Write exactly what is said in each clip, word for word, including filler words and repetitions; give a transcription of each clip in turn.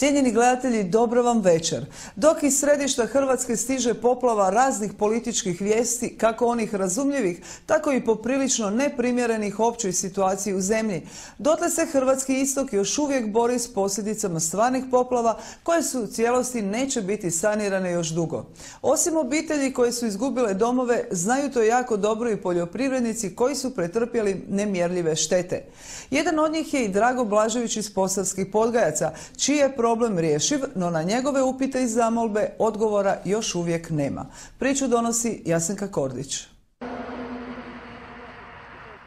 Cijenjeni gledatelji, dobro vam večer. Dok iz središta Hrvatske stiže poplava raznih političkih vijesti, kako onih razumljivih, tako i poprilično neprimjerenih općoj situaciji u zemlji, dotle se hrvatski istok još uvijek bori s posljedicama stvarnih poplava koje su u cijelosti neće biti sanirane još dugo. Osim obitelji koje su izgubile domove, znaju to jako dobro i poljoprivrednici koji su pretrpjeli nemjerljive štete. Jedan od njih je i Drago Blažević iz Posavskih Podgajaca, čiji je problem rješiv, no na njegove upite i zamolbe odgovora još uvijek nema. Priču donosi Jasenka Kordić.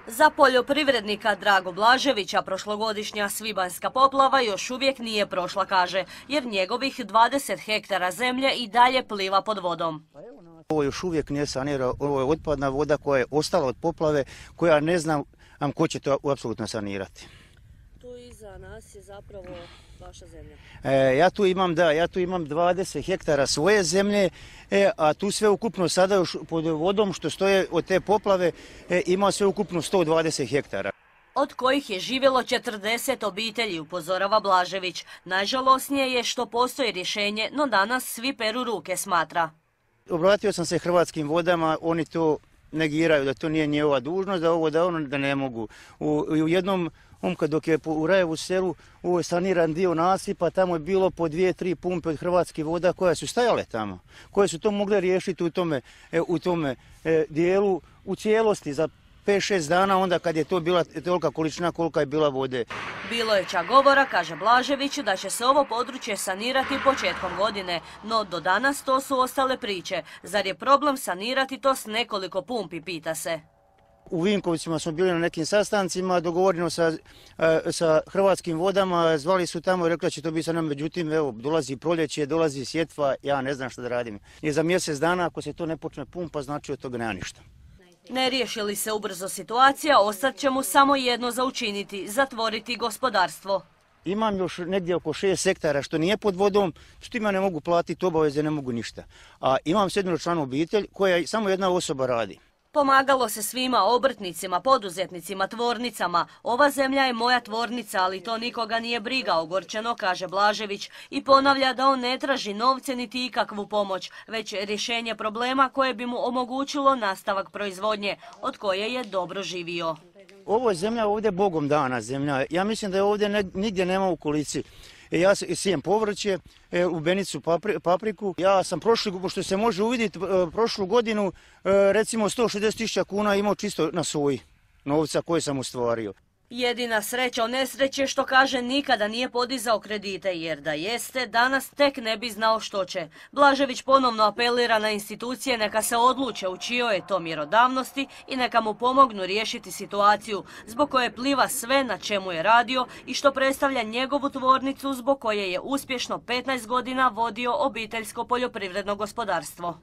Za poljoprivrednika Drago Blaževića prošlogodišnja svibanjska poplava još uvijek nije prošla, kaže, jer njegovih dvadeset hektara zemlje i dalje pliva pod vodom. Ovo još uvijek nije sanirano, ovo je otpadna voda koja je ostala od poplave, koja ne znam ko će to apsolutno sanirati. Tu iza nas je zapravo vaša zemlja. E, ja tu imam, da, ja tu imam dvadeset hektara svoje zemlje, e, a tu sve ukupno sada još pod vodom što stoje od te poplave e, ima sve ukupno sto dvadeset hektara. Od kojih je živjelo četrdeset obitelji, upozorava Blažević. Najžalosnije je što postoji rješenje, no danas svi peru ruke, smatra. Obratio sam se Hrvatskim vodama, oni to negiraju, da to nije njihova dužnost, da ovo da ono da ne mogu. U, u jednom omka dok je u Rajevu selu, ovo je saniran dio nasipa, tamo je bilo po dvije, tri pumpe od Hrvatskih voda koje su stajale tamo, koje su to mogle riješiti u tome, u tome e, dijelu u cijelosti za pet šest dana, onda kad je to bila tolika količina kolika je bila vode. Bilo je čak govora, kaže Blažević, da će se ovo područje sanirati početkom godine, no do danas to su ostale priče. Zar je problem sanirati to s nekoliko pumpi, pita se. U Vinkovcima smo bili na nekim sastancima, dogovoreno sa, sa Hrvatskim vodama, zvali su tamo i rekli da će to biti sa nama, međutim, evo, dolazi proljeće, dolazi sjetva, ja ne znam što da radim. I za mjesec dana, ako se to ne počne pumpa, znači od toga nema ništa. Ne riješi li se ubrzo situacija, ostat će mu samo jedno za učiniti, zatvoriti gospodarstvo. Imam još negdje oko šest hektara što nije pod vodom, što ima ne mogu platiti obaveze, ne mogu ništa. A imam sedmeročlanu obitelj koja samo jedna osoba radi. Pomagalo se svima, obrtnicima, poduzetnicima, tvornicama. Ova zemlja je moja tvornica, ali to nikoga nije briga, ogorčeno, kaže Blažević i ponavlja da on ne traži novce niti ikakvu pomoć, već rješenje problema koje bi mu omogućilo nastavak proizvodnje, od koje je dobro živio. Ovo je zemlja ovdje Bogom dana zemlja. Ja mislim da je ovdje ne, nigdje nema u okolici. Ja sijem povrće, u Benicu papriku. Ja sam prošli, što se može uvidjeti, prošlu godinu recimo sto šezdeset tisuća kuna imao čisto na soji novca koje sam ostvario. Jedina sreća u nesreći što kaže nikada nije podizao kredite, jer da jeste, danas tek ne bi znao što će. Blažević ponovno apelira na institucije neka se odluče u čijoj je to mjerodavnosti i neka mu pomognu riješiti situaciju zbog koje pliva sve na čemu je radio i što predstavlja njegovu tvornicu zbog koje je uspješno petnaest godina vodio obiteljsko poljoprivredno gospodarstvo.